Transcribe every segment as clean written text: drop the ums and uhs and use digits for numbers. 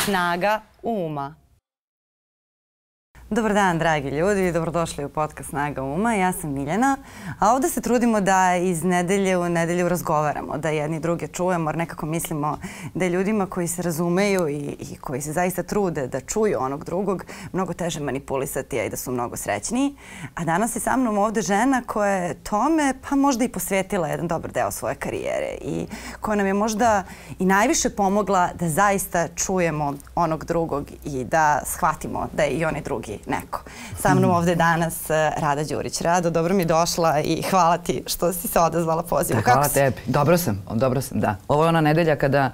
Snaga uma. Dobar dan, dragi ljudi, dobrodošli u podcast Snaga uma. Ja sam Miljana, a ovde se trudimo da iz nedelje u nedelju razgovaramo, da jedni druge čujemo, jer nekako mislimo da je ljudima koji se razumeju i koji se zaista trude da čuju onog drugog mnogo teže manipulisati, a i da su mnogo srećniji. A danas je sa mnom ovde žena koja je tome pa možda i posvetila jedan dobar deo svoje karijere i koja nam je možda i najviše pomogla da zaista čujemo onog drugog i da shvatimo da je i onaj drugi neko. Sa mnom ovde danas Rada Đurić. Rado, dobro mi došla i hvala ti što si se odazvala pozivu. Hvala tebi. Dobro sam, da. Ovo je ona nedelja kada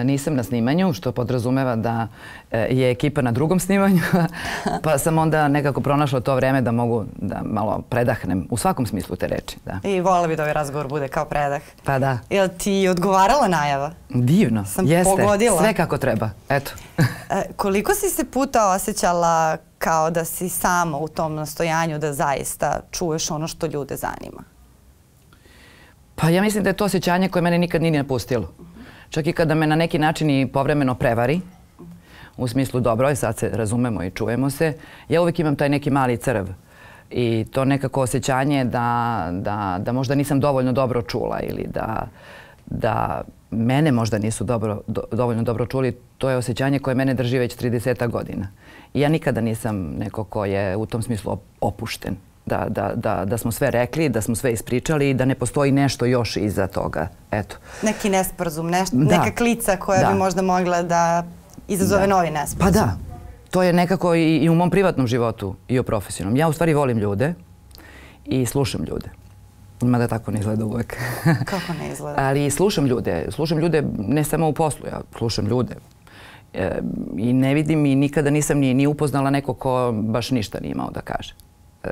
nisam na snimanju, što podrazumeva da je ekipa na drugom snimanju, pa sam onda nekako pronašla to vreme da mogu da malo predahnem, u svakom smislu te reči. I voljela bi da ovaj razgovor bude kao predah. Pa da. Jel ti odgovarala najava? Divno, jeste. Pogodila. Sve kako treba, eto. Koliko si se puta osjećala kao da si sama u tom nastojanju da zaista čuješ ono što ljude zanima? Pa ja mislim da je to osjećanje koje mene nikad nije napustilo. Čak i kada me na neki način i povremeno prevari, u smislu dobro, sad se razumemo i čujemo se, ja uvijek imam taj neki mali crv. I to nekako osjećanje da možda nisam dovoljno dobro čula ili da mene možda nisu dovoljno dobro čuli, to je osjećanje koje mene drži već 30 godina. I ja nikada nisam neko ko je u tom smislu opušten. Da smo sve rekli, da smo sve ispričali i da ne postoji nešto još iza toga. Eto. Neki nesporazum, neka klica koja bi možda mogla da izazove novi nesporazum. Pa da. To je nekako i u mom privatnom životu i u profesionalnom. Ja u stvari volim ljude i slušam ljude. Mada tako ne izgleda uvek. Kako ne izgleda? Ali slušam ljude. Slušam ljude ne samo u poslu, ja slušam ljude. I ne vidim i nikada nisam ni upoznala neko ko baš ništa nije imao da kaže.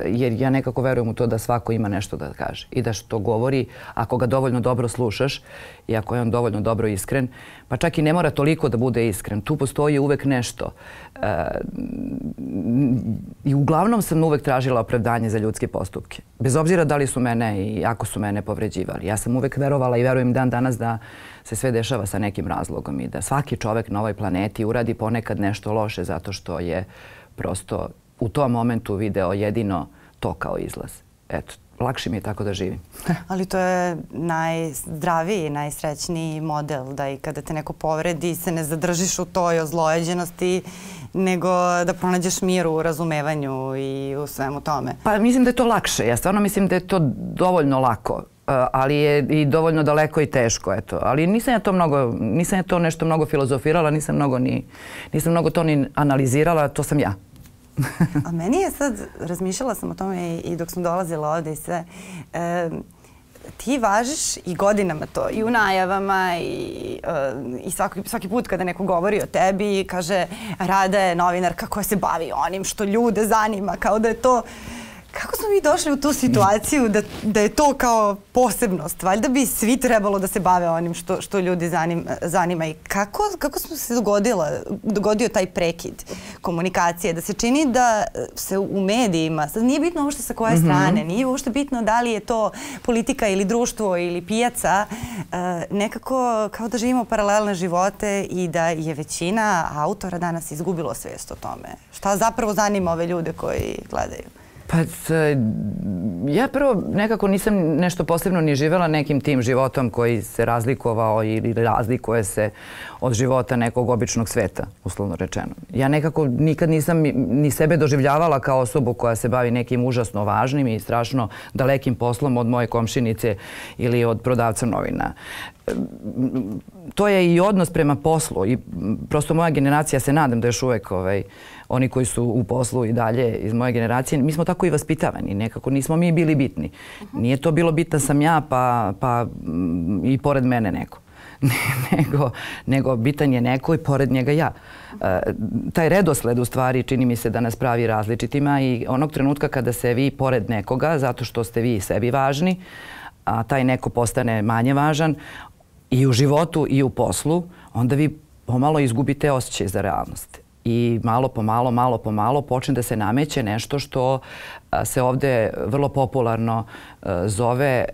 Jer ja nekako verujem u to da svako ima nešto da kaže i da što govori, ako ga dovoljno dobro slušaš i ako je on dovoljno dobro iskren, pa čak i ne mora toliko da bude iskren. Tu postoji uvek nešto. I uglavnom sam uvek tražila opravdanje za ljudske postupke. Bez obzira da li su mene i ako su mene povređivali. Ja sam uvek verovala i verujem dan danas da se sve dešava sa nekim razlogom i da svaki čovek na ovoj planeti uradi ponekad nešto loše zato što je prosto u tom momentu video jedino to kao izlaz. Eto, lakše mi je tako da živim. Ali to je najzdraviji, najsrećniji model, da i kada te neko povredi se ne zadržiš u toj ozlojeđenosti, nego da pronađeš mir u razumevanju i u svemu tome. Pa mislim da je to lakše. Ja stvarno mislim da je to dovoljno lako, ali je i dovoljno daleko i teško, eto. Ali nisam ja to nešto mnogo filozofirala, nisam mnogo to ni analizirala, to sam ja. A meni je sad, razmišljala sam o tome i dok sam dolazila ovde i sve, ti važiš i godinama to, i u najavama i svaki put kada neko govori o tebi i kaže Rada je novinarka koja se bavi onim što ljude zanima, kao da je to... Kako smo mi došli u tu situaciju da je to kao posebnost? Valjda bi svi trebalo da se bave onim što ljudi zanima. I kako se dogodio taj prekid komunikacije? Da se čini da se u medijima, sad nije bitno uopšte sa koje strane, nije uopšte bitno da li je to politika ili društvo ili pijaca, nekako kao da živimo paralelne živote i da je većina autora danas izgubilo svijest o tome. Šta zapravo zanima ove ljude koji gledaju? Pa ja prvo nekako nisam nešto posebno ni živjela nekim tim životom koji se razlikovao ili razlikuje se od života nekog običnog sveta, uslovno rečeno. Ja nekako nikad nisam ni sebe doživljavala kao osobu koja se bavi nekim užasno važnim i strašno dalekim poslom od moje komšinice ili od prodavca novina. To je i odnos prema poslu i prosto moja generacija, se nadam da još uvek oni koji su u poslu i dalje iz moje generacije, mi smo tako i vaspitavani, nekako nismo mi bili bitni. Nije to bilo bitan sam ja pa i pored mene neko. Nego bitan je neko i pored njega ja. Taj redosled u stvari čini mi se da nas pravi različitima i onog trenutka kada se vi pored nekoga, zato što ste vi sebi važni, a taj neko postane manje važan i u životu i u poslu, onda vi pomalo izgubite osjećaj za realnost. I malo po malo počne da se nameće nešto što se ovde vrlo popularno zove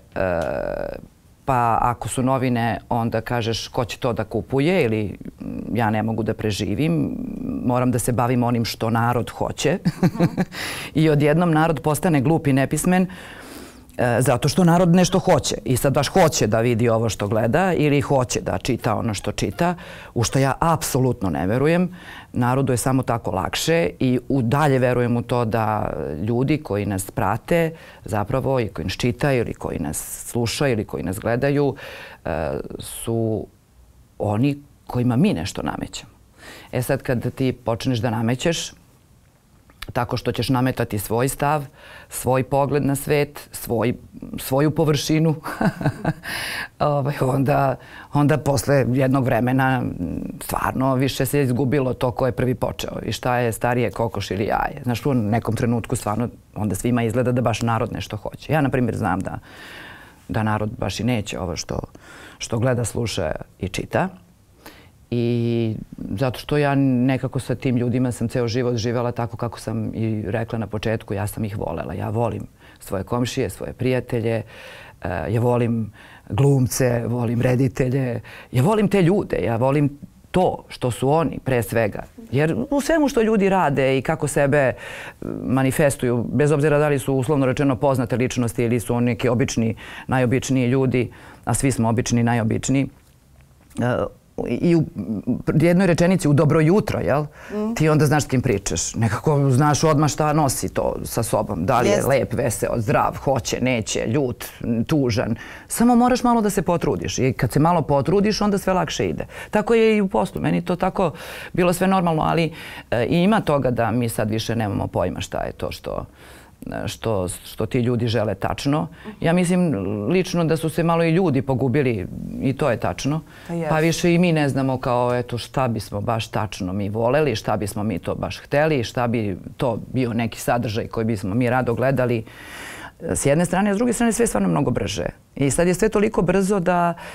pa ako su novine, onda kažeš ko će to da kupuje ili ja ne mogu da preživim, moram da se bavim onim što narod hoće. I odjednom narod postane glup i nepismen zato što narod nešto hoće. I sad baš hoće da vidi ovo što gleda ili hoće da čita ono što čita, u što ja apsolutno ne verujem. Narodu je samo tako lakše i dalje verujem u to da ljudi koji nas prate zapravo i koji nas čitaju ili koji nas slušaju ili koji nas gledaju su oni kojima mi nešto namećemo. E sad kad ti počneš da namećeš tako što ćeš nametati svoj stav, svoj pogled na svet, svoju površinu, onda posle jednog vremena stvarno više se izgubilo to ko je prvi počeo i šta je starije, kokoš ili jaje. Znaš, u nekom trenutku stvarno onda svima izgleda da baš narod nešto hoće. Ja, na primjer, znam da narod baš i neće ovo što gleda, sluša i čita. I zato što ja nekako sa tim ljudima sam ceo život živjela tako kako sam i rekla na početku, ja sam ih volela. Ja volim svoje komšije, svoje prijatelje, ja volim glumce, volim reditelje, ja volim te ljude, ja volim to što su oni pre svega. Jer u svemu što ljudi rade i kako sebe manifestuju, bez obzira da li su uslovno rečeno poznate ličnosti ili su oni neki obični, najobičniji ljudi, a svi smo obični i najobičniji, i u jednoj rečenici u dobro jutro, jel? Ti onda znaš s kim pričaš. Nekako znaš odmah šta nosi to sa sobom. Da li je lep, veseo, zdrav, hoće, neće, ljut, tužan. Samo moraš malo da se potrudiš. I kad se malo potrudiš, onda sve lakše ide. Tako je i u poslu. Meni to tako bilo sve normalno, ali ima toga da mi sad više nemamo pojma šta je to što ti ljudi žele tačno. Ja mislim lično da su se malo i ljudi pogubili i to je tačno. Pa više i mi ne znamo kao eto šta bismo baš tačno mi voleli, šta bismo mi to baš hteli, šta bi to bio neki sadržaj koji bismo mi rado gledali. S jedne strane, a s druge strane sve je stvarno mnogo brže. I sad je sve toliko brzo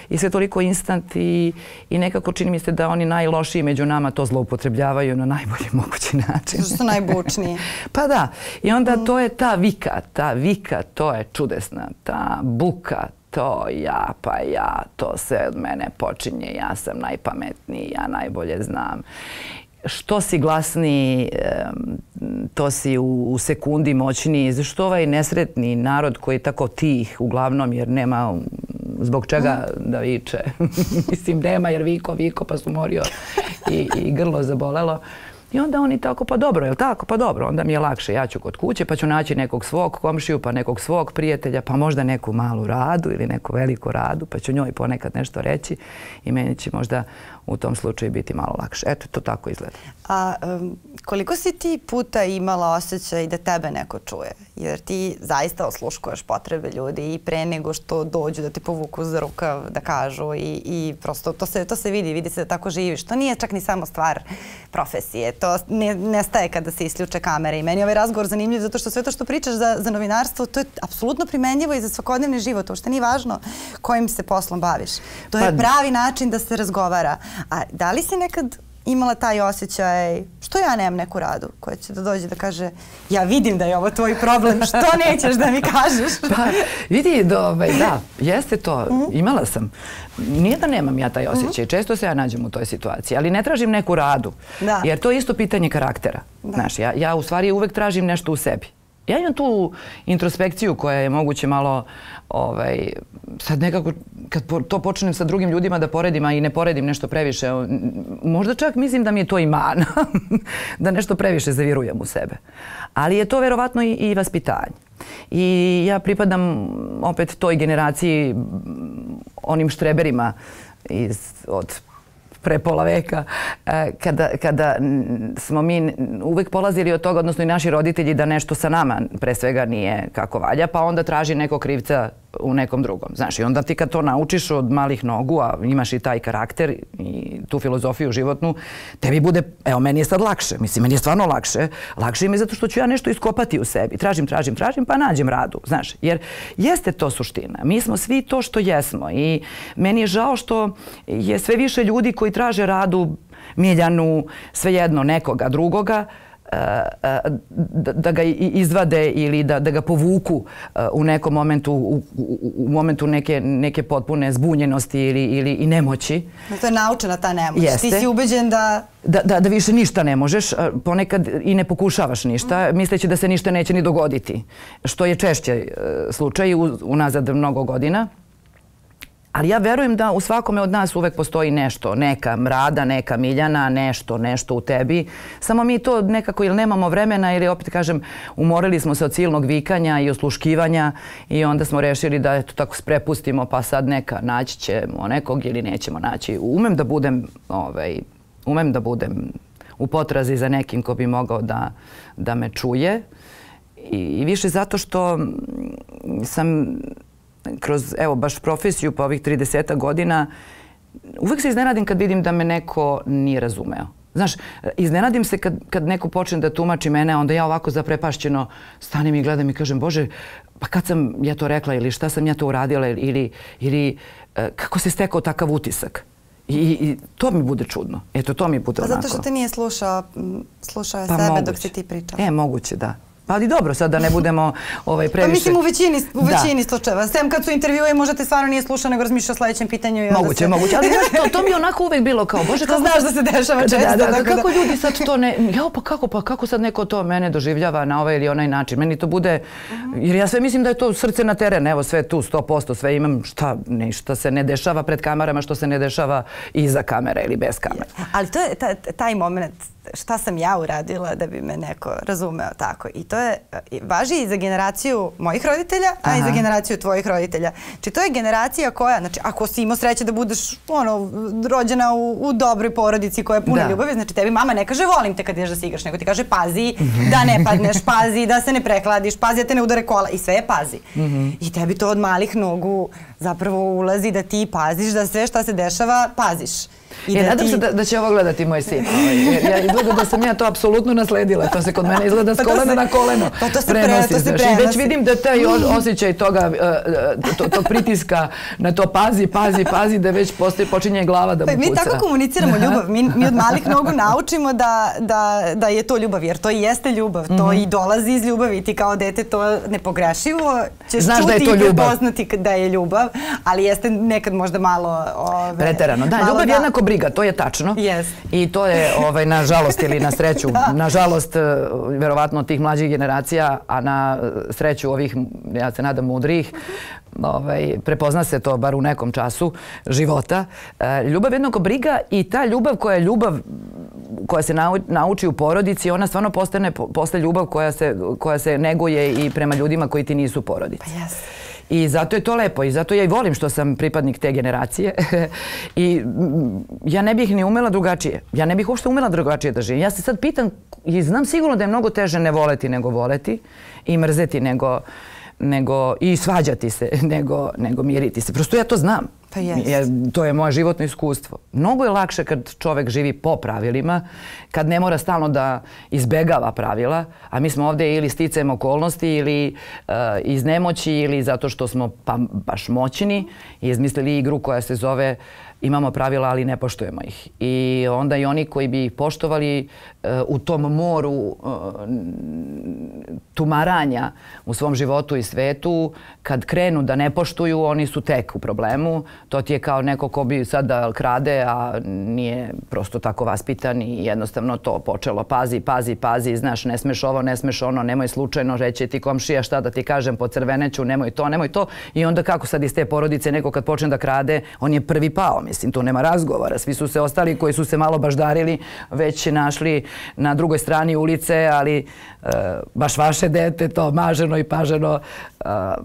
i sve toliko instant i nekako čini mi se da oni najlošiji među nama to zloupotrebljavaju na najbolji mogući način. Što su najbučniji. Pa da. I onda to je ta vika, to je čudesna. Ta buka, to ja, pa ja, to sve od mene počinje, ja sam najpametniji, ja najbolje znam. Što si glasniji, to si u sekundi moćniji. Zašto ovaj nesretni narod koji je tako tih uglavnom jer nema zbog čega da viče. Mislim, nema jer viko pa su morio i grlo zabolelo. I onda oni tako, pa dobro, je li tako? Pa dobro, onda mi je lakše. Ja ću kod kuće pa ću naći nekog svog komšiju, pa nekog svog prijatelja, pa možda neku malu Radu ili neku veliku Radu, pa ću njoj ponekad nešto reći i meni će možda u tom slučaju biti malo lakše. Eto, to tako izgleda. A koliko si ti puta imala osjećaj da tebe neko čuje? Jer ti zaista osluškuješ potrebe ljudi i pre nego što dođu da ti povuku za rukav, da kažu i prosto to se vidi se da tako živiš. To nije čak ni samo stvar profesije. To nestaje kada se isključe kamere. I meni je ovaj razgovor zanimljiv zato što sve to što pričaš za novinarstvo, to je apsolutno primenjivo i za svakodnevni život. Uopšte nije važno kojim se poslom baviš. To je pravi način da se razgovara. A da li si nekad imala taj osjećaj, što ja nemam neku Radu koja će da dođe da kaže ja vidim da je ovo tvoj problem, što nećeš da mi kažeš? Pa vidi, da, jeste to, imala sam. Nije da nemam ja taj osjećaj, često se ja nađem u toj situaciji, ali ne tražim neku Radu, jer to je isto pitanje karaktera. Znaš, ja u stvari uvek tražim nešto u sebi. Ja imam tu introspekciju koja je moguće malo, sad nekako, kad to počnem sa drugim ljudima da poredim, a i ne poredim nešto previše, možda čak mislim da mi je to i mana, da nešto previše zavirujem u sebe. Ali je to verovatno i vaspitanje. I ja pripadam opet toj generaciji, onim štreberima od pre pola veka, kada smo mi uvek polazili od toga, odnosno i naši roditelji, da nešto sa nama pre svega nije kako valja, pa onda traži nekog krivca u nekom drugom. Znaš, i onda ti kad to naučiš od malih nogu, a imaš i taj karakter i tu filozofiju životnu, tebi bude, evo, meni je sad lakše. Mislim, meni je stvarno lakše. Lakše mi je zato što ću ja nešto iskopati u sebi. Tražim, pa nađem Radu. Znaš, jer jeste to suština. Mi smo svi to što jesmo i meni je žao što je sve više ljudi koji traže Radu, Miljanu, svejedno nekoga drugoga, da ga izvade ili da ga povuku u nekom momentu, u momentu neke potpune zbunjenosti ili nemoći. To je naučena ta nemoć. Ti si ubeđen da više ništa ne možeš, ponekad i ne pokušavaš ništa, misleći da se ništa neće ni dogoditi, što je češće slučaj unazad mnogo godina. Ali ja verujem da u svakome od nas uvek postoji nešto, neka Rada, neka Miljana, nešto u tebi. Samo mi to nekako ili nemamo vremena ili opet kažem umorili smo se od silnog vikanja i osluškivanja i onda smo rešili da eto tako sprepustimo pa sad neka naći ćemo nekog ili nećemo naći. Umem da budem u potrazi za nekim ko bi mogao da me čuje i više zato što sam kroz, evo, baš profesiju pa ovih 30 godina, uvek se iznenadim kad vidim da me neko nije razumeo. Znaš, iznenadim se kad neko počne da tumači mene, onda ja ovako zaprepašćeno stanem i gledam i kažem, Bože, pa kad sam ja to rekla ili šta sam ja to uradila ili kako se stekao takav utisak. I to mi bude čudno. Eto, to mi bude onako. A zato što te nije slušao je sebe dok si ti pričao. Moguće, da. Ali dobro, sad da ne budemo previše... Pa mislim u većini slučajeva. Sem kad su intervjue možda te stvarno nije slušao nego razmišljao o sledećem pitanju. Moguće. Ali to mi je onako uvek bilo kao, Bože, kako... Znaš da se dešava često. Kako ljudi sad to ne... kako sad neko to mene doživljava na ovaj ili onaj način? Meni to bude... Jer ja sve mislim da je to srce na teren. Evo sve tu, 100%, sve imam šta se ne dešava pred kamerama, što se ne dešava iza kamere ili bez kamere. Ali to je taj moment šta sam ja uradila da bi me neko razumeo tako. I to je, važi i za generaciju mojih roditelja, a i za generaciju tvojih roditelja. Znači to je generacija koja, znači ako si imao sreće da budeš rođena u dobroj porodici koja je puna ljubavi, znači tebi mama ne kaže volim te kad ideš da se igraš, nego ti kaže pazi da ne padneš, pazi da se ne prehladiš, pazi da te ne udare kola i sve je pazi. I tebi to od malih nogu zapravo ulazi da ti paziš da sve šta se dešava paziš. Nadam se da će ovo gledati moj sin. Izgleda da sam ja to apsolutno nasledila. To se kod mene izgleda s kolena na koleno prenosi. I već vidim da taj osjećaj tog pritiska na to pazi, da već počinje glava da mu puca. Mi tako komuniciramo ljubav. Mi od malih nogu naučimo da je to ljubav, jer to i jeste ljubav. To i dolazi iz ljubavi. Ti kao dete to nepogrešivo ćeš čuti i prepoznati da je ljubav, ali jeste nekad možda malo... Preterano. Da, ljubav je jednako briga, to je tačno. I to je, nažalost ili na sreću, nažalost, verovatno tih mlađih generacija, a na sreću ovih, ja se nadam, mudrijih, prepozna se to bar u nekom času života. Ljubav je jednako briga i ta ljubav koja se nauči u porodici, ona stvarno postaje ljubav koja se neguje i prema ljudima koji ti nisu porodici. Pa jes. I zato je to lepo i zato ja i volim što sam pripadnik te generacije i ja ne bih ni umela drugačije. Ja ne bih uopšte umela drugačije da živim. Ja se sad pitam i znam sigurno da je mnogo teže ne voleti nego voleti i mrzeti nego i svađati se nego miriti se. Prosto ja to znam. Pa jest. To je moje životno iskustvo. Mnogo je lakše kad čovek živi po pravilima, kad ne mora stalno da izbegava pravila, a mi smo ovde ili sticajem okolnosti ili iz nemoći ili zato što smo baš moćni i izmislili igru koja se zove imamo pravila, ali ne poštujemo ih. I onda i oni koji bi ih poštovali u tom moru tumaranja u svom životu i svetu, kad krenu da ne poštuju, oni su tek u problemu. To ti je kao neko ko bi sad da krade, a nije prosto tako vaspitan i jednostavno to počelo. Pazi, znaš, ne smeš ovo, ne smeš ono, nemoj slučajno reći ti komšija šta da ti kažem, pocrveneću, nemoj to. I onda kako sad iz te porodice neko kad počne da krade, on je prvi pao. Mislim, tu nema razgovora. Svi su se ostali koji su se malo baždarili, već našli na drugoj strani ulice, ali baš vaše dete, to maženo i paženo,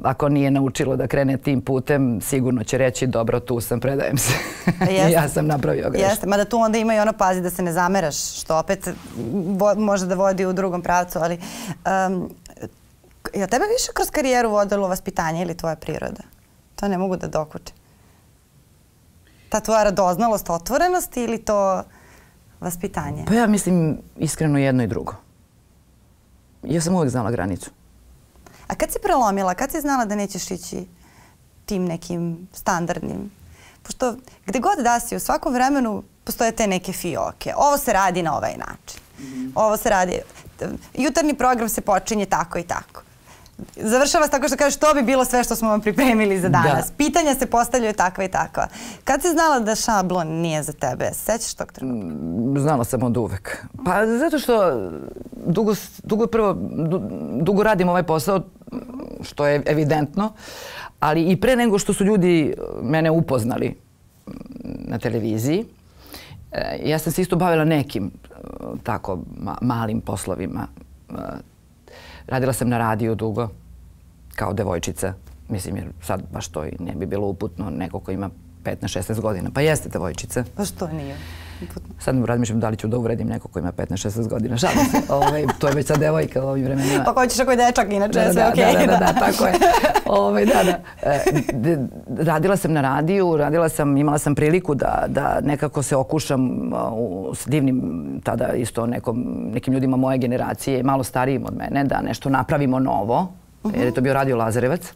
ako nije naučilo da krene tim putem, sigurno će reći dobro, tu sam, predajem se. Ja sam napravio grešku. Jeste, mada tu onda ima i ono pazi da se ne zameraš, što opet može da vodi u drugom pravcu, ali je tebe više kroz karijeru vodilo vaspitanje ili tvoja priroda? To ne mogu da dokučim. Ta tvoja radoznalost, otvorenost ili to vaspitanje? Pa ja mislim iskreno jedno i drugo. Ja sam uvek znala granicu. A kad si prelomila, kad si znala da nećeš ići tim nekim standardnim? Pošto gde god da si, u svakom vremenu postoje te neke fioke. Ovo se radi na ovaj način. Ovo se radi... jutarnji program se počinje tako i tako. Završava se tako što kažeš to bi bilo sve što smo vam pripremili za danas. Pitanja se postavljaju takva i takva. Kad si znala da šablon nije za tebe? Sećaš tog trenutka? Znala sam od uvek. Pa zato što dugo radim ovaj posao, što je evidentno, ali i pre nego što su ljudi mene upoznali na televiziji, ja sam se isto bavila nekim tako malim poslovima. Radila sam na radiju dugo, kao devojčica. Mislim, jer sad baš to i ne bi bilo uputno neko ko ima 15-16 godina. Pa jeste devojčica. Pa što nije uputno? Sad razmišljam da li ću da uvredim neko ko ima 15-16 godina. Šalim se. To je već sad devojka u ovim vremenima. Pa hoćeš ako je dečak, inače sve okej. Da, tako je. Radila sam na radiju, imala sam priliku da nekako se okušam s divnim tada isto nekim ljudima moje generacije, malo starijim od mene, da nešto napravimo novo, jer je to bio Radio Lazarevac.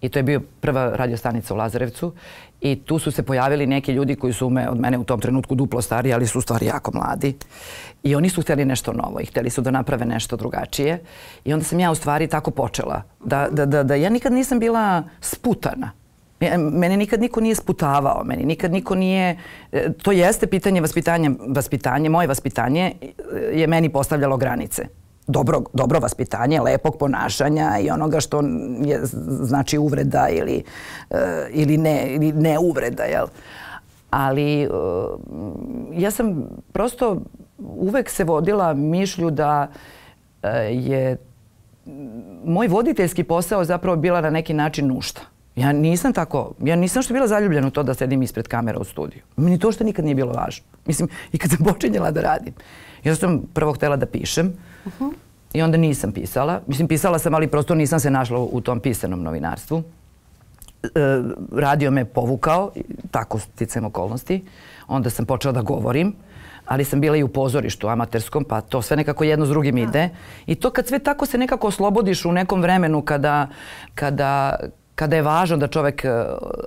I to je bio prva radiostanica u Lazarevcu. I tu su se pojavili neki ljudi koji su od mene u tom trenutku duplo stariji, ali su u stvari jako mladi. I oni su htjeli nešto novo i htjeli su da naprave nešto drugačije. I onda sam ja u stvari tako počela. Da ja nikad nisam bila sputana. Mene nikad niko nije sputavao. Meni nikad niko nije... To jeste pitanje vaspitanja. Moje vaspitanje je meni postavljalo granice. Dobro vaspitanje, lepog ponašanja i onoga što znači uvreda ili ne uvreda, jel? Ali ja sam prosto uvek se vodila mišlju da je moj voditeljski posao zapravo bila na neki način nužda. Ja nisam što bila zaljubljena u to da sedim ispred kamera u studiju. Meni to što nikad nije bilo važno. Mislim, i kad sam počinjela da radim. Ja sam prvo htjela da pišem i onda nisam pisala. Mislim, pisala sam, ali prosto nisam se našla u tom pisanom novinarstvu. Radio me povukao, tako sticajem okolnosti. Onda sam počela da govorim, ali sam bila i u pozorištu amaterskom, pa to sve nekako jedno s drugim ide. I to kad sve tako se nekako oslobodiš u nekom vremenu kada je važno da čovek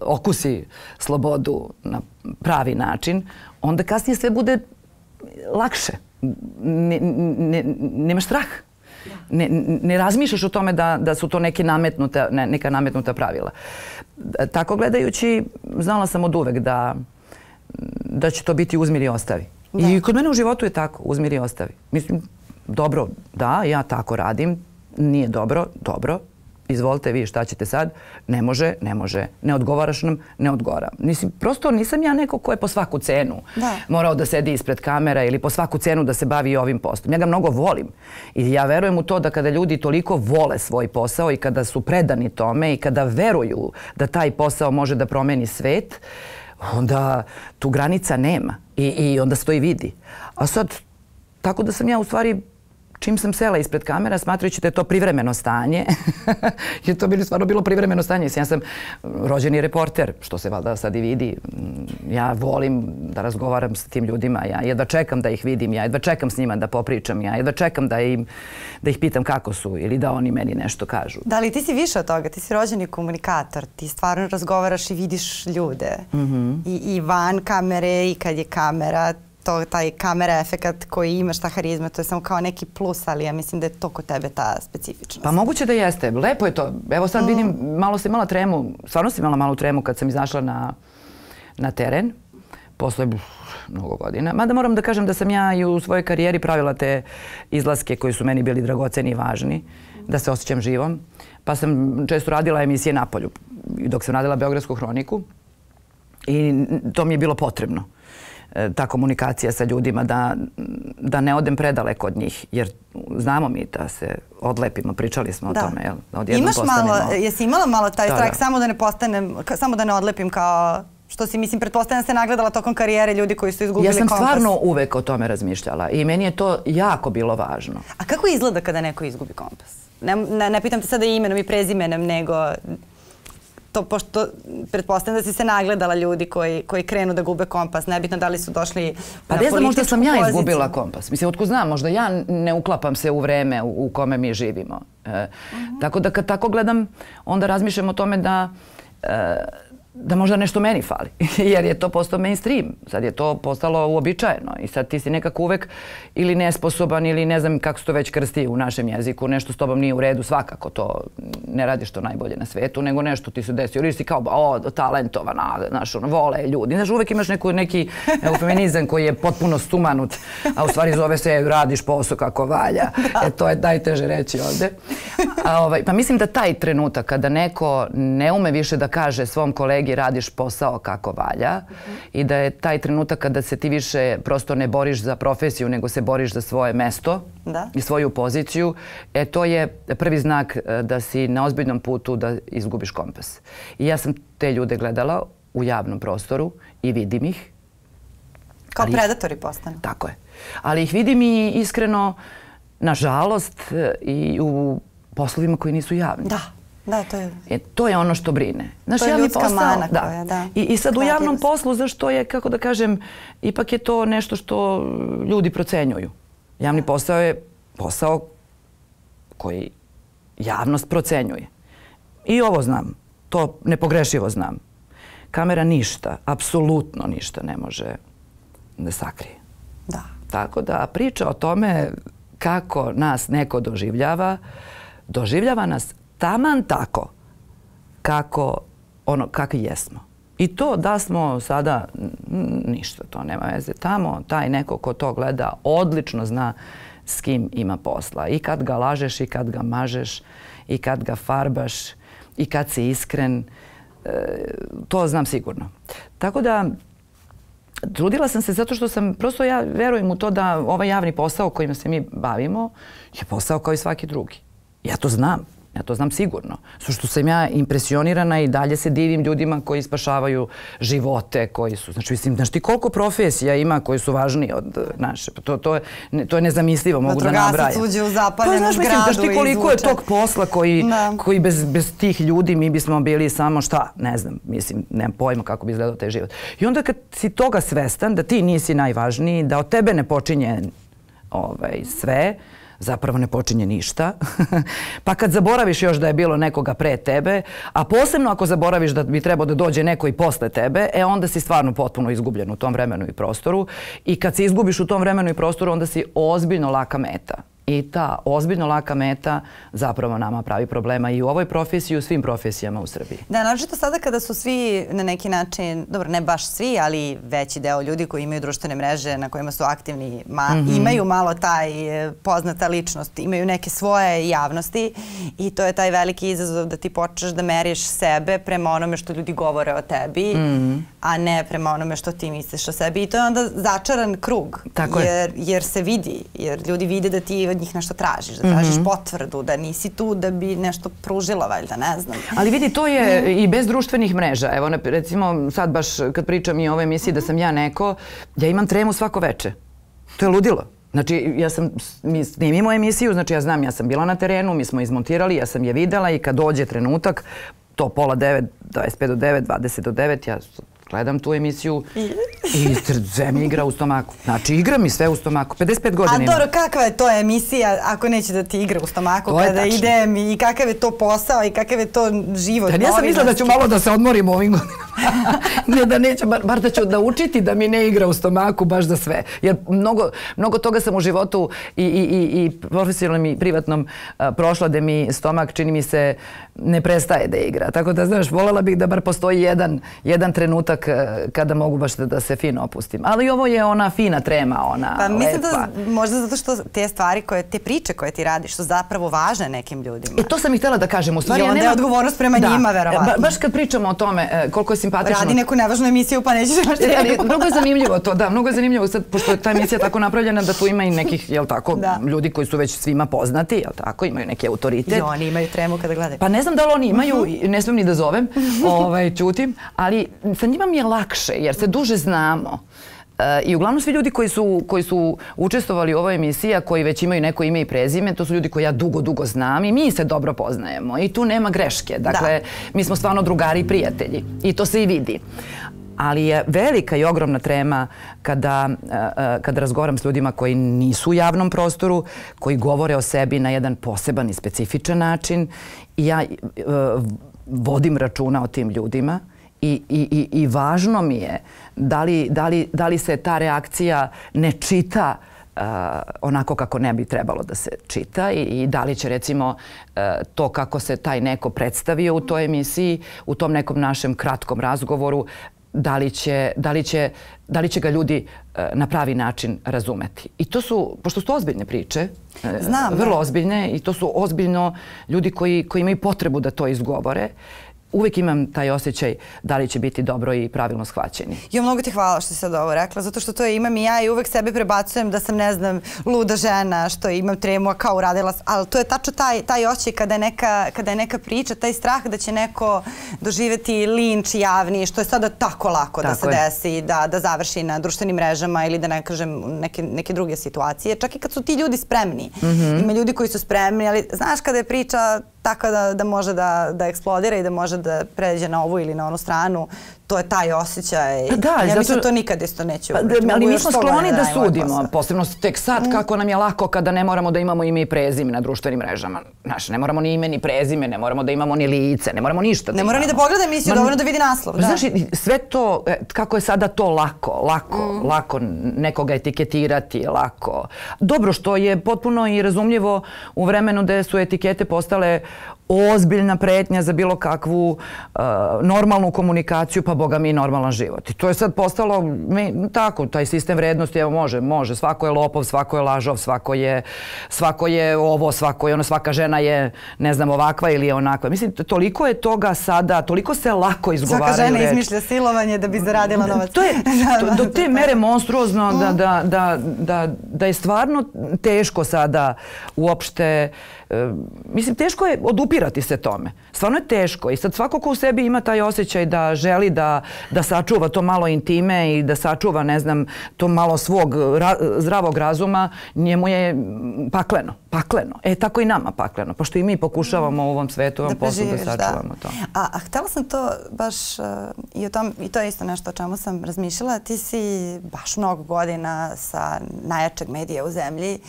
okusi slobodu na pravi način, onda kasnije sve bude lakše. Nemaš strah. Ne razmišljaš o tome da su to neka nametnuta pravila. Tako gledajući, znala sam od uvek da će to biti uzmi ili ostavi. I kod mene u životu je tako, uzmi ili ostavi. Mislim, dobro, da, ja tako radim, nije dobro, dobro. Izvolite vi šta ćete sad, ne može, ne odgovaraš nam, ne odgovara. Prosto nisam ja neko ko je po svaku cenu morao da sedi ispred kamera ili po svaku cenu da se bavi ovim poslom. Ja ga mnogo volim i ja verujem u to da kada ljudi toliko vole svoj posao i kada su predani tome i kada veruju da taj posao može da promeni svet, onda tu granica nema i onda se to i vidi. A sad, tako da sam ja u stvari... Čim sam sela ispred kamera, smatrajući da je to privremeno stanje, jer to bi stvarno bilo privremeno stanje. Ja sam rođeni reporter, što se valjda sad i vidi. Ja volim da razgovaram s tim ljudima, ja jedva čekam da ih vidim, ja jedva čekam s njima da popričam, ja jedva čekam da ih pitam kako su ili da oni meni nešto kažu. Da, ali ti si više od toga, ti si rođeni komunikator, ti stvarno razgovaraš i vidiš ljude. I van kamere i kad je kamera, taj kamera efekat koji imaš, ta harizma, to je samo kao neki plus, ali ja mislim da je to kod tebe ta specifičnost. Pa moguće da jeste. Lepo je to. Evo sad vidim, malo sam imala tremu, stvarno sam imala malu tremu kad sam izašla na teren, posle mnogo godina. Mada moram da kažem da sam ja i u svojoj karijeri pravila te izlaske koji su meni bili dragoceni i važni, da se osjećam živom. Pa sam često radila emisije napolju, dok sam radila Beogradsku hroniku i to mi je bilo potrebno. Ta komunikacija sa ljudima, da ne odem predaleko od njih, jer znamo mi da se odlepimo, pričali smo o tome, jel? Imaš malo, jesi imala malo taj strah, samo da ne odlepim kao što si, mislim, pretpostavljam se nagledala tokom karijere ljudi koji su izgubili kompas. Ja sam stvarno uvek o tome razmišljala i meni je to jako bilo važno. A kako izgleda kada neko izgubi kompas? Ne pitam te sada imenom i prezimenom, nego... To, pošto pretpostavljam da si se nagledala ljudi koji krenu da gube kompas, nebitno da li su došli na političku poziciju. Pa ne znam, možda sam ja izgubila kompas. Mislim, otko znam, možda ja ne uklapam se u vreme u kome mi živimo. Tako da kad tako gledam, onda razmišljam o tome da možda nešto meni fali, jer je to postao mainstream. Sad je to postalo uobičajeno i sad ti si nekako uvek ili nesposoban ili ne znam kako se to već krsti u našem jeziku, nešto s tobom nije u redu, svakako to ne radiš to najbolje na svetu, nego nešto ti se desi. Ili si kao, talentovan, znaš, vole ljudi. Znaš, uvek imaš neki eufeminizam koji je potpuno stumanut, a u stvari zove se radiš posao kako valja. To je najteže reći ovde. Pa mislim da taj trenutak kada neko ne ume više da kaže svom kolegi radiš posao kako valja i da je taj trenutak kada se ti više prosto ne boriš za profesiju nego se boriš za svoje mesto i svoju poziciju, to je prvi znak da si na ozbiljnom putu da izgubiš kompas. I ja sam te ljude gledala u javnom prostoru i vidim ih. Kao predatori postanu. Tako je. Ali ih vidim i iskreno, nažalost, i u poslovima koji nisu javni. Da, to je... To je ono što brine. To je ljudska mana koja, da. I sad u javnom poslu, zašto je, kako da kažem, ipak je to nešto što ljudi procenjuju. Javni posao je posao koji javnost procenjuje. I ovo znam. To nepogrešivo znam. Kamera ništa, apsolutno ništa ne može da sakrije. Da. Tako da priča o tome kako nas neko doživljava nas taman tako kakvi jesmo. I to da smo sada ništa, to nema veze. Tamo taj neko ko to gleda odlično zna s kim ima posla. I kad ga lažeš, i kad ga mažeš, i kad ga farbaš, i kad si iskren. To znam sigurno. Tako da trudila sam se zato što prosto ja verujem u to da ovaj javni posao kojim se mi bavimo je posao kao i svaki drugi. Ja to znam. Ja to znam sigurno. Što sam ja impresionirana i dalje se divim ljudima koji spašavaju živote, koji su... Znači, mislim, znaš ti koliko profesija ima koji su važniji od naše? To je nezamislivo, mogu da nabrajam. Vatrogasac uđe u zapaljenu zgradu i izvuče. Znaš ti koliko je tog posla koji bez tih ljudi mi bismo bili samo šta? Ne znam, mislim, nemam pojma kako bi izgledao taj život. I onda kad si toga svestan, da ti nisi najvažniji, da od tebe ne počinje sve, zapravo ne počinje ništa. Pa kad zaboraviš još da je bilo nekoga pre tebe, a posebno ako zaboraviš da bi trebao da dođe neko i posle tebe, onda si stvarno potpuno izgubljen u tom vremenu i prostoru. I kad se izgubiš u tom vremenu i prostoru, onda si ozbiljno laka meta. I ta ozbiljno laka meta zapravo nama pravi problema i u ovoj profesiji i u svim profesijama u Srbiji. Da, naročito sada kada su svi na neki način, dobro, ne baš svi, ali veći deo ljudi koji imaju društvene mreže na kojima su aktivni, imaju malo taj poznata ličnost, imaju neke svoje javnosti i to je taj veliki izazov da ti počneš da meriš sebe prema onome što ljudi govore o tebi, a ne prema onome što ti misliš o sebi. I to je onda začaran krug, jer se vidi, jer ljudi vide da ti od njih nešto tražiš, da tražiš potvrdu, da nisi tu da bi nešto pružila, valjda, ne znam. Ali vidi, to je i bez društvenih mreža. Evo, recimo, sad baš kad pričam i o ovoj emisiji da sam ja neko, ja imam tremu svako veče. To je ludilo. Znači, mi snimimo emisiju, znači ja znam, ja sam bila na terenu, mi smo izmontirali, ja sam je videla i kad dođe trenutak, to 8:30, 25 do 9, 20 do 9, ja gledam tu emisiju i sve mi igra u stomaku. Znači, igra mi sve u stomaku. 55 godina imam. A dobro, kakva je to emisija ako neće da ti igra u stomaku kada idem i kakav je to posao i kakav je to život? Ja sam mislila da ću malo da se odmorim ovim godinama. Ne da neću, bar da ću naučiti da mi ne igra u stomaku baš za sve. Jer mnogo toga sam u životu i profesionalnom i privatnom prošla da mi stomak, čini mi se, ne prestaje da igra. Tako da, znaš, voljela bih da bar postoji jedan trenutak kada mogu baš da se fino opustim. Ali ovo je ona fina trema, ona lepa. Pa mislim da možda zato što te stvari, te priče koje ti radiš su zapravo važne nekim ljudima. I to sam i htjela da kažem. I onda je odgovornost prema njima, verovatno. Baš kad pričamo o tome koliko je simpatično. Radi neku nevažnu emisiju pa nećeš nešto rekao. Mnogo je zanimljivo to, da. Mnogo je zanimljivo sad, pošto je ta emisija tako napravljena da tu ima i nekih, jel tako, ljudi koji su već svima poznati, jel tako, imaju neki autoritet. I oni imaju tremu kada gledaju. Pa ne znam da li oni imaju, ne smijem ni da zovem, ćutim, ali sa njima mi je lakše jer se duže znamo. I uglavnom svi ljudi koji su učestvovali u ovoj emisiji, a koji već imaju neko ime i prezime, to su ljudi koje ja dugo znam i mi se dobro poznajemo i tu nema greške. Dakle, mi smo stvarno drugari i prijatelji i to se i vidi. Ali je velika i ogromna trema kada razgovaram s ljudima koji nisu u javnom prostoru, koji govore o sebi na jedan poseban i specifičan način i ja vodim računa o tim ljudima i važno mi je da li se ta reakcija ne čita onako kako ne bi trebalo da se čita i da li će recimo to kako se taj neko predstavio u toj emisiji, u tom nekom našem kratkom razgovoru, da li će ga ljudi na pravi način razumeti. I to su, pošto su to ozbiljne priče, vrlo ozbiljne, i to su ozbiljno ljudi koji imaju potrebu da to izgovore, uvijek imam taj osjećaj da li će biti dobro i pravilno shvaćeni. Jo, mnogo ti hvala što si sad ovo rekla, zato što to imam i ja i uvek sebi prebacujem da sam, ne znam, luda žena, što imam tremu, a kao uradila, ali to je tačno taj osjećaj kada je neka priča, taj strah da će neko doživjeti linč javni, što je sada tako lako da se desi, da završi na društvenim mrežama ili da ne kažem neke druge situacije, čak i kad su ti ljudi spremni. Ima ljudi koji su spremni, ali znaš kada je priča tako da može da eksplodira i da može da pređe na ovu ili na onu stranu, to je taj osjećaj. Ja mislim to nikad isto neće uvrati. Ali mi smo skloni da sudimo, posebno tek sad kako nam je lako kada ne moramo da imamo ime i prezime na društvenim mrežama. Znaš, ne moramo ni ime ni prezime, ne moramo da imamo ni lice, ne moramo ništa da imamo. Ne mora ni da pogleda emisiju, dovoljno da vidi naslov. Znaš, sve to, kako je sada to lako nekoga etiketirati, lako. Dobro, što je potpuno i razumljivo u vremenu da su etikete postale ozbiljna pretnja za bilo kakvu normalnu komunikaciju, pa boga mi normalan život. I to je sad postalo tako, taj sistem vrednosti, evo može, svako je lopov, svako je lažov, svako je ovo, svako je ono, svaka žena je, ne znam, ovakva ili je onakva. Mislim, toliko je toga sada, toliko se lako izgovaraju reči. Svaka žena izmišlja silovanje da bi zaradila novac. To je do te mere monstruozno da je stvarno teško sada uopšte. Mislim, teško je odupirati se tome. Stvarno je teško i sad svako ko u sebi ima taj osjećaj da želi da sačuva to malo intime i da sačuva, ne znam, to malo svog zdravog razuma, njemu je pakleno. Tako i nama pakleno, pošto i mi pokušavamo u ovom svetu, ovom poslu da sačuvamo to. A htjela sam to baš i to je isto nešto o čemu sam razmišljala. Ti si baš mnogo godina sa najjačeg medija u zemlji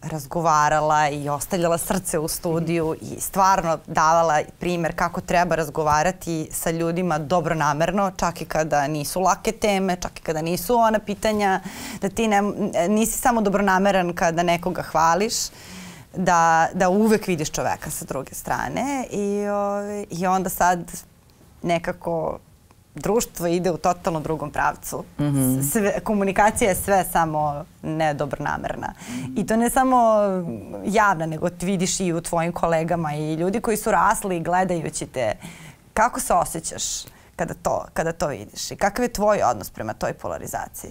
razgovarala i ostavljala srce u studiju i stvarno davala primjer kako treba razgovarati sa ljudima dobronamerno, čak i kada nisu lake teme, čak i kada nisu ona pitanja, da ti nisi samo dobronameran kada nekoga hvališ, da uvek vidiš čoveka sa druge strane i onda sad nekako društvo ide u totalno drugom pravcu. Komunikacija je sve samo nedobronamerna. I to ne samo javna, nego ti vidiš i u tvojim kolegama i ljudi koji su rasli gledajući te. Kako se osjećaš kada to vidiš? I kakav je tvoj odnos prema toj polarizaciji?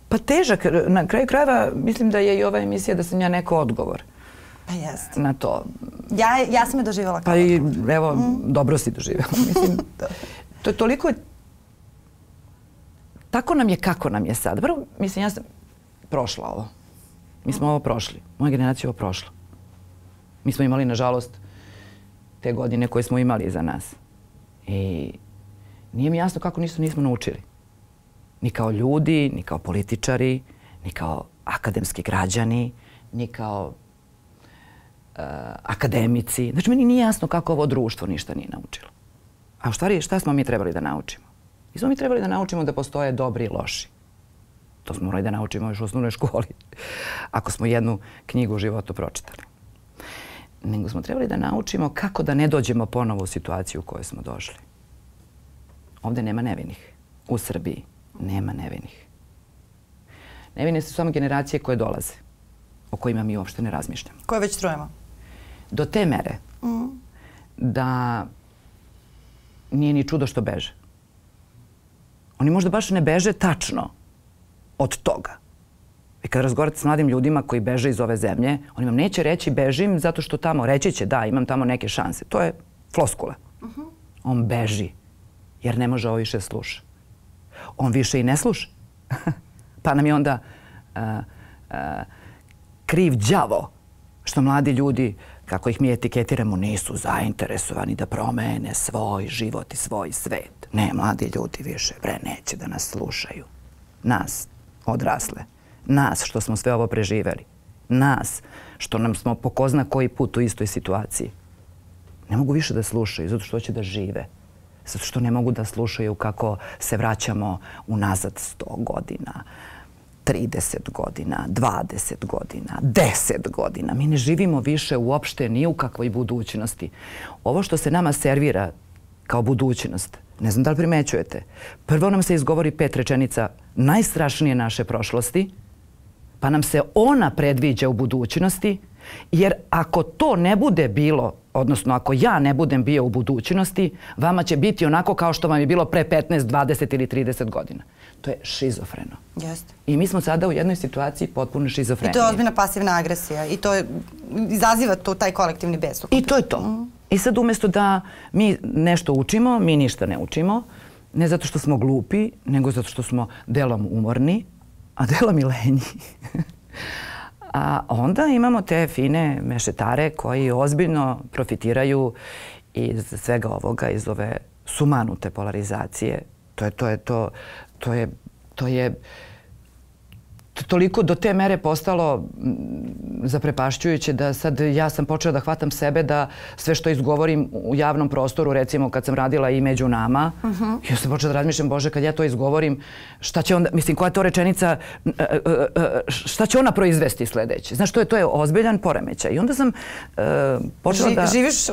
Pa težak. Na kraju krajeva mislim da je i ova emisija da sam ja neko odgovor. Pa jeste. Na to. Ja sam je doživjela kao odgovor. Pa i evo, dobro si doživjela. Mislim, to je toliko... Tako nam je kako nam je sad. Prvo, mislim, ja sam prošla ovo. Mi smo ovo prošli. Moja generacija je ovo prošla. Mi smo imali, nažalost, te godine koje smo imali iza nas. I nije mi jasno kako nismo naučili. Ni kao ljudi, ni kao političari, ni kao akademski građani, ni kao akademici. Znači, meni nije jasno kako ovo društvo ništa nije naučilo. A u stvari, šta smo mi trebali da naučimo? Mi smo mi trebali da naučimo da postoje dobri i loši. To smo morali da naučimo još u osnovnoj školi, ako smo jednu knjigu u životu pročitali. Nego smo trebali da naučimo kako da ne dođemo ponovo u situaciju u kojoj smo došli. Ovdje nema nevinih. U Srbiji nema nevinih. Nevine su samo generacije koje dolaze, o kojima mi uopšte ne razmišljamo. Koje već trujemo? Do te mere da nije ni čudo što beže. Oni možda baš ne beže tačno od toga. I kad razgovarate s mladim ljudima koji beže iz ove zemlje, oni vam neće reći bežim zato što tamo, reći će da, imam tamo neke šanse. To je floskula. On beži jer ne može ovo više sluša. On više i ne sluša. Pa nam je onda kriv đavo što mladi ljudi, kako ih mi etiketiramo, nisu zainteresovani da promene svoj život i svoj svet. Ne, mladi ljudi više neće da nas slušaju. Nas, odrasle. Nas, što smo sve ovo preživeli. Nas, što nam smo po ko zna koji put u istoj situaciji. Ne mogu više da slušaju, zato što hoće da žive. zato što ne mogu da slušaju kako se vraćamo unazad 100 godina, 30 godina, 20 godina, 10 godina. Mi ne živimo više uopšte ni u kakvoj budućnosti. Ovo što se nama servira kao budućnost, ne znam da li primećujete, prvo nam se izgovori 5 rečenica najstrašnije naše prošlosti, pa nam se ona predviđa u budućnosti, jer ako to ne bude bilo, odnosno ako ja ne budem bio u budućnosti, vama će biti onako kao što vam je bilo pre 15, 20 ili 30 godina. To je šizofreno. Jeste. I mi smo sada u jednoj situaciji potpuno šizofrenije. I to je ozbiljna pasivna agresija i to izaziva taj kolektivni bes. I to je to. I sad umjesto da mi nešto učimo, mi ništa ne učimo. Ne zato što smo glupi, nego zato što smo delom umorni, a delom i lenji. A onda imamo te fine mešetare koji ozbiljno profitiraju iz svega ovoga, iz ove sumanute polarizacije. To je toliko do te mere postalo zaprepašćujuće da sad ja sam počela da hvatam sebe da sve što izgovorim u javnom prostoru, recimo kad sam radila i među nama, ja sam počela da razmišljam, Bože, kad ja to izgovorim, šta će onda, mislim, koja je to rečenica, šta će ona proizvesti sledeće? Znaš, to je ozbiljan poremećaj. I onda sam počela da... Živiš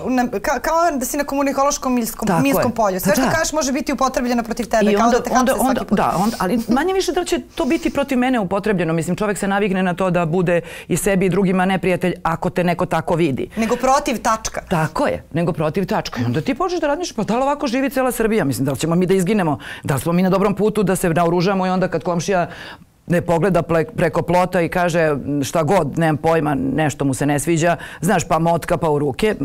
kao da si na komunikološkom minskom polju. Sve što kažeš može biti upotrebljeno protiv tebe, kao da te hapse svaki put. Da, ali manje više da će to biti protiv mene upotrebljeno. Mislim, čovjek se navikne na to da bude i sebi i drugima neprijatelj ako te neko tako vidi. Nego protiv tačka. Tako je, nego protiv tačka. I onda ti počneš da razmišljaš, pa da li ovako živi cela Srbija? Mislim, da li ćemo mi da izginemo? Da li smo mi na dobrom putu da se naoružamo i onda kad komšija ne pogleda preko plota i kaže šta god, nemam pojma, nešto mu se ne sviđa, znaš, pa motka pa u ruke.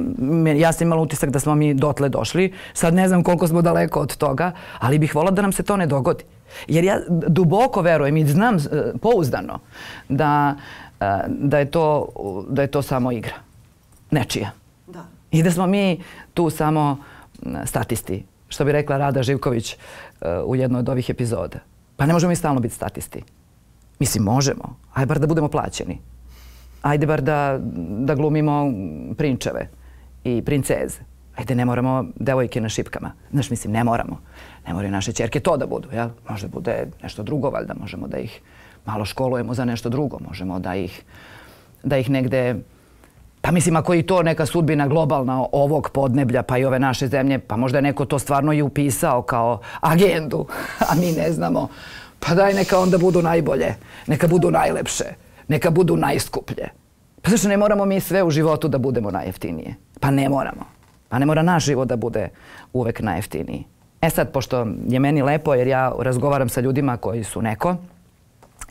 Ja sam imala utisak da smo mi dotle došli. Sad ne znam koliko smo daleko od toga, ali bih volila da nam se to ne dogodi. Jer ja duboko verujem i znam pouzdano da je to samo igra. Nečija. I da smo mi tu samo statisti. Što bi rekla Rada Živković u jednoj od ovih epizoda. Pa ne možemo mi stalno biti statisti. Mislim, možemo. Ajde bar da budemo plaćeni. Ajde bar da glumimo prinčeve i princeze. Ajde, ne moramo devojke na šipkama. Znaš, mislim, ne moramo. Ne moraju naše ćerke to da budu, jel? Možda bude nešto drugo, valjda. Možemo da ih malo školujemo za nešto drugo. Možemo da ih negde... Pa mislim, ako je i to neka sudbina globalna ovog podneblja, pa i ove naše zemlje, pa možda je neko to stvarno i upisao kao agendu, a mi ne znamo. Pa daj, neka onda budu najbolje, neka budu najlepše, neka budu najskuplje. Pa zašto ne moramo mi sve u životu da budemo najjeftinije? Pa ne moramo. Pa ne mora naš život da bude uvek najjeftiniji. E sad, pošto je meni lepo, jer ja razgovaram sa ljudima koji su neko,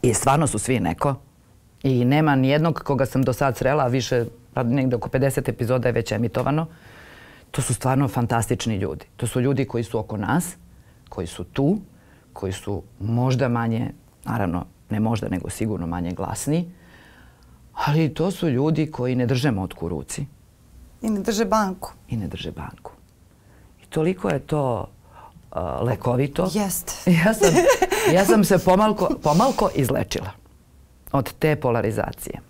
i stvarno su svi neko, i nema nijednog koga sam do sad srela, a više, negde oko 50 epizoda je već emitovano, to su stvarno fantastični ljudi. To su ljudi koji su oko nas, koji su tu, koji su možda manje, naravno ne možda, nego sigurno manje glasni, ali to su ljudi koji ne drže motku u ruci. I ne drže banku. I ne drže banku. I toliko je to lekovito. Jeste. Ja sam se pomalko izlečila od te polarizacije.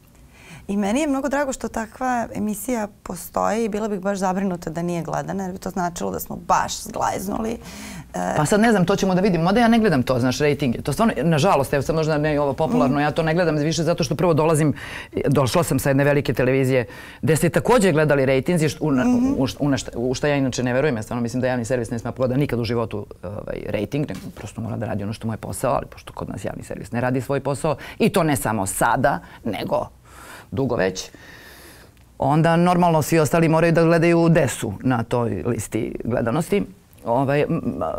I meni je mnogo drago što takva emisija postoji i bila bih baš zabrinuta da nije gledana, jer bi to značilo da smo baš zglajznuli. Pa sad ne znam, to ćemo da vidimo. Mada ja ne gledam to, znaš, rejtinge. To stvarno, nažalost, evo sad možda ne je ovo popularno, ja to ne gledam više zato što prvo došla sam sa jedne velike televizije gde ste također gledali rejtinzi, u šta ja inače ne verujem. Ja stvarno mislim da javni servis ne smije pogleda nikad u životu rejting, nego prosto mora da radi ono što mu je posao, ali pošto kod nas javni servis ne radi svoj posao, i to ne samo sada, nego dugo već, onda normalno svi ostali moraju da gledaju desu na toj listi gledanosti.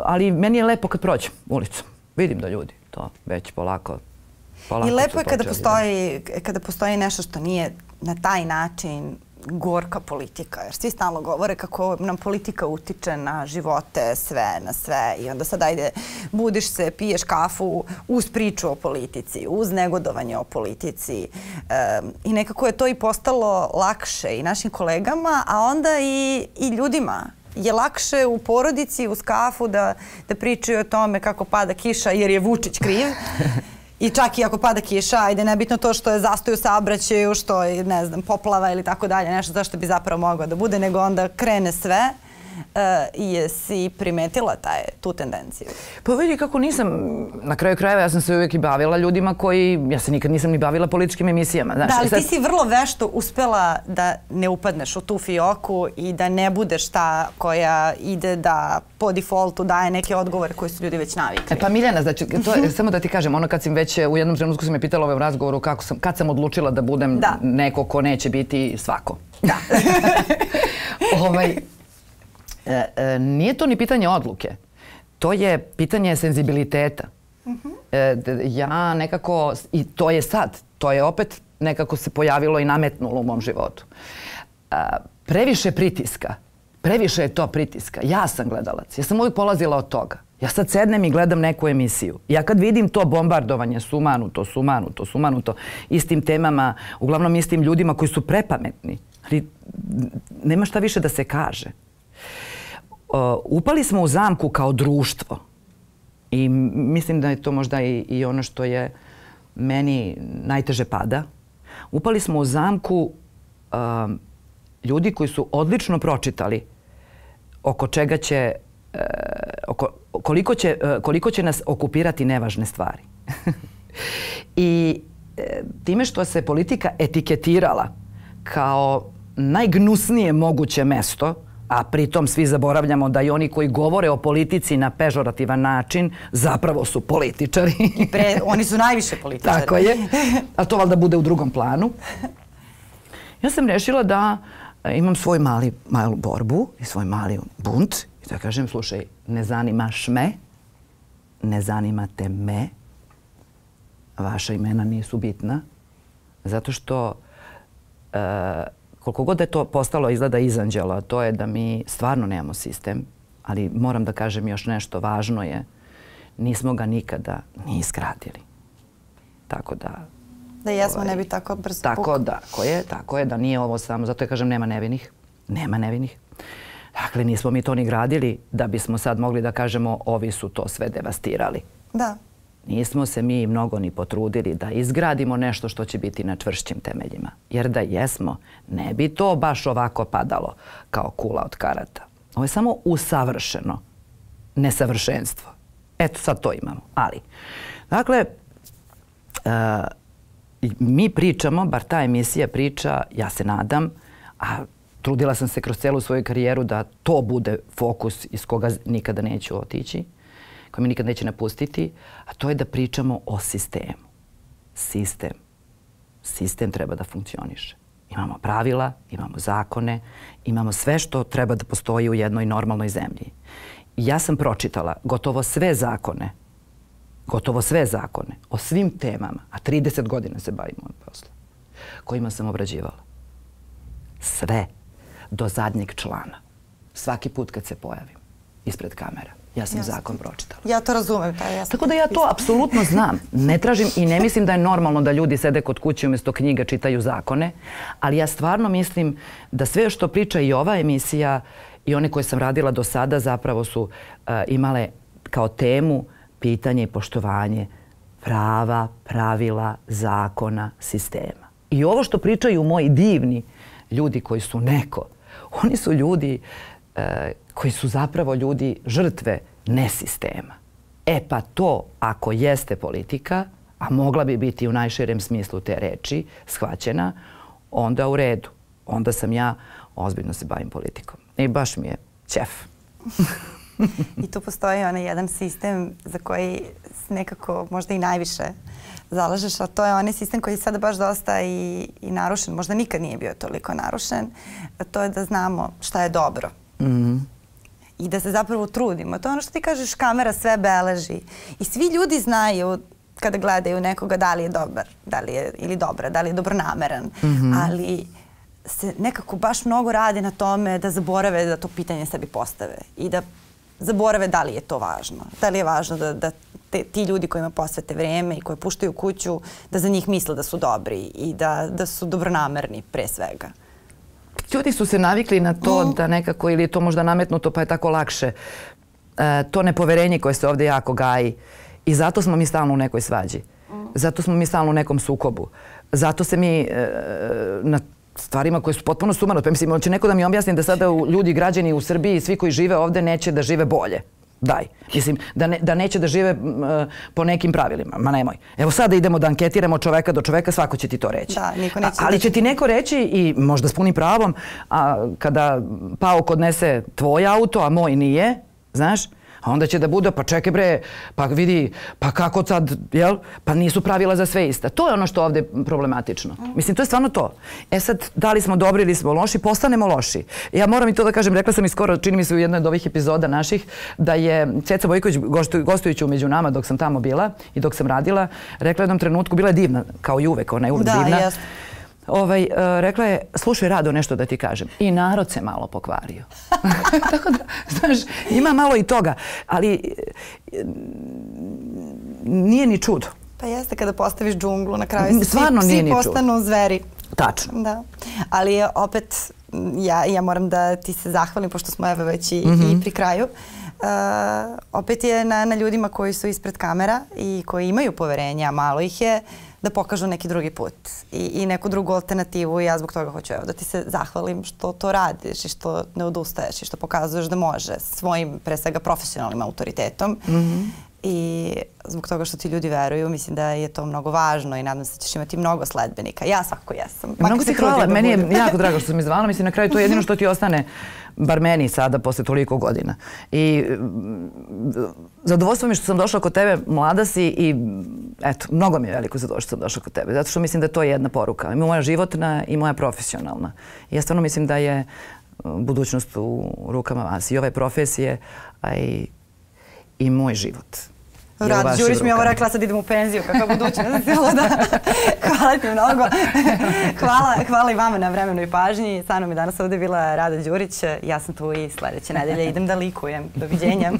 Ali meni je lepo kad prođem ulicom. Vidim da ljudi to već polako I lepo je kada postoji nešto što nije na taj način gorka politika, jer svi stalno govore kako nam politika utiče na živote, na sve. I onda sad ajde, budiš se, piješ kafu uz priču o politici, uz negodovanje o politici. I nekako je to i postalo lakše i našim kolegama, a onda i ljudima. Je lakše u porodici, uz kafu da pričaju o tome kako pada kiša jer je Vučić kriv. I čak i ako pada kiša, ajde, nebitno to što je zastoj u saobraćaju, što je, ne znam, poplava ili tako dalje, nešto zašto bi zapravo moglo da bude, nego onda krene sve. Jesi primetila tu tendenciju? Pa vidi kako nisam, na kraju krajeva ja sam se uvijek i bavila ljudima ja se nikad nisam ni bavila političkim emisijama. Da, ali ti si vrlo vešto uspela da ne upadneš u tu fioku i da ne budeš ta koja ide da po defaultu daje neke odgovore koje su ljudi već navikli. Pa Miljana, znači, samo da ti kažem, ono kad sam već u jednom trenutku sam me pitala ovaj razgovoru kad sam odlučila da budem neko ko neće biti svako. Da. Nije to ni pitanje odluke. To je pitanje senzibiliteta. Ja nekako, i to je sad, to je opet nekako se pojavilo i nametnulo u mom životu. Previše pritiska. Previše je to pritiska. Ja sam gledalac. Ja sam uvijek polazila od toga. Ja sad sednem i gledam neku emisiju. Ja kad vidim to bombardovanje, sumanuto, istim temama, uglavnom istim ljudima koji su prepametni, ali nema šta više da se kaže. Upali smo u zamku kao društvo i mislim da je to možda i ono što je meni najteže pada. Upali smo u zamku ljudi koji su odlično pročitali oko čega će, koliko će nas okupirati nevažne stvari. I time što se politika etiketirala kao najgnusnije moguće mesto, a pritom svi zaboravljamo da i oni koji govore o politici na pežorativan način zapravo su političari. Oni su najviše političari. Tako je. Ali to valjda bude u drugom planu. Ja sam rešila da imam svoj malu borbu i svoj mali bunt i da kažem, slušaj, ne zanimaš me, ne zanimate me, vaša imena nisu bitna, zato što koliko god da je to postalo izgleda izanđelo, to je da mi stvarno nemamo sistem, ali moram da kažem još nešto važno je, nismo ga nikada ni izgradili. Tako da... Da jesmo, ne bi tako brzo pukao. Tako je, da nije ovo samo, zato ja kažem nema nevinih. Nema nevinih. Dakle, nismo mi to ni gradili da bismo sad mogli da kažemo ovi su to sve devastirali. Da. Nismo se mi mnogo ni potrudili da izgradimo nešto što će biti na čvršćim temeljima. Jer da jesmo, ne bi to baš ovako padalo kao kula od karata. Ovo je samo usavršeno nesavršenstvo. Eto, sad to imamo. Ali, dakle, mi pričamo, bar ta emisija priča, ja se nadam, a trudila sam se kroz celu svoju karijeru da to bude fokus iz koga nikada neću otići, koji me nikad neće napustiti, a to je da pričamo o sistemu. Sistem treba da funkcioniše. Imamo pravila, imamo zakone, imamo sve što treba da postoji u jednoj normalnoj zemlji. Ja sam pročitala gotovo sve zakone o svim temama, a 30 godina se bavim ovim poslom, kojima sam obrađivala. Sve, do zadnjeg člana. Svaki put kad se pojavim ispred kamera. Ja sam zakon pročitala. Ja to razumem. Tako da ja to apsolutno znam. Ne tražim i ne mislim da je normalno da ljudi sede kod kuće umjesto knjiga čitaju zakone, ali ja stvarno mislim da sve što priča i ova emisija i one koje sam radila do sada zapravo su imale kao temu pitanje i poštovanje prava, pravila, zakona, sistema. I ovo što pričaju moji divni ljudi koji su neko, oni su ljudi koji su zapravo ljudi žrtve nesistema. E pa to, ako jeste politika, a mogla bi biti u najširem smislu te reči, shvaćena, onda u redu. Onda sam ja ozbiljno se bavim politikom. I baš mi je ćef. I tu postoji onaj jedan sistem za koji nekako možda i najviše zalažeš, a to je onaj sistem koji je sada baš dosta i narušen. Možda nikad nije bio toliko narušen. To je da znamo šta je dobro. I da se zapravo trudimo. To je ono što ti kažeš, kamera sve beleži. I svi ljudi znaju kada gledaju nekoga da li je dobar, ili dobra, da li je dobronameran. Ali se nekako baš mnogo radi na tome da zaborave da to pitanje sebi postave i da zaborave da li je to važno. Da li je važno da ti ljudi kojima posvete vreme i koji puštaju kuću, da za njih misle da su dobri i da su dobronamerni pre svega. Ljudi su se navikli na to da nekako, ili je to možda nametnuto pa je tako lakše, to nepoverenje koje se ovdje jako gaji. I zato smo mi stalno u nekoj svađi. Zato smo mi stalno u nekom sukobu. Zato se mi na stvarima koje su potpuno sumanuto. Pa mislim, hoće neko da mi objasni da sada ljudi, građani u Srbiji, svi koji žive ovde neće da žive bolje. Daj. Mislim, da neće da žive po nekim pravilima. Ma nemoj. Evo sada idemo da anketiramo čoveka do čoveka, svako će ti to reći. Da, niko neće. Ali će ti neko reći i možda s punim pravom, a kada Pauk odnese tvoj auto, a moj nije, znaš, a onda će da bude, pa čekaj bre, pa vidi, pa kako sad, jel? Pa nisu pravila za sve ista. To je ono što je ovde problematično. Mislim, to je stvarno to. E sad, da li smo dobri ili smo loši, postanemo loši. Ja moram i to da kažem, rekla sam i skoro, čini mi se u jednoj od ovih epizoda naših, da je Ceca Bojković, gostujući Među nama dok sam tamo bila i dok sam radila, rekla u jednom trenutku, bila je divna, kao i uvek, ona je uvek divna. Da, jeste. Rekla je, slušaj Rado, nešto da ti kažem. I narod se malo pokvario. Tako da, znaš, ima malo i toga. Ali nije ni čudo. Pa jeste, kada postaviš džunglu, na kraju svi postanu zveri. Tačno. Da. Ali opet, ja moram da ti se zahvalim, pošto smo evo već i pri kraju. Opet je na ljudima koji su ispred kamera i koji imaju poverenja, a malo ih je, da pokažu neki drugi put i neku drugu alternativu i ja zbog toga hoću da ti se zahvalim što to radiš i što ne odustaješ i što pokazuješ da može svojim, pre svega, profesionalnim autoritetom i zbog toga što ti ljudi veruju, mislim da je to mnogo važno i nadam se da ćeš imati mnogo sledbenika. Ja svakako jesam. Mnogo ti hvala, meni je jako drago što sam mi zvala, mislim na kraju to je jedino što ti ostane, bar meni sada posle toliko godina. I zadovoljstvo mi što sam došla kod tebe, mlada si i eto, mnogo mi je veliko zadovoljstvo što sam došla kod tebe, zato što mislim da je to jedna poruka, i moja životna i moja profesionalna. I ja stvarno mislim da je budućnost u rukama vas i ove profesije, a i moj život. Rado Đurić mi je ovo rekla, sad idem u penziju, kakva budućnost. Hvala ti mnogo. Hvala i vama na vremenu i pažnji. Sa mnom je danas ovdje bila Rada Đurić. Ja sam tu i sljedeće nedelje idem da likujem. Doviđenja.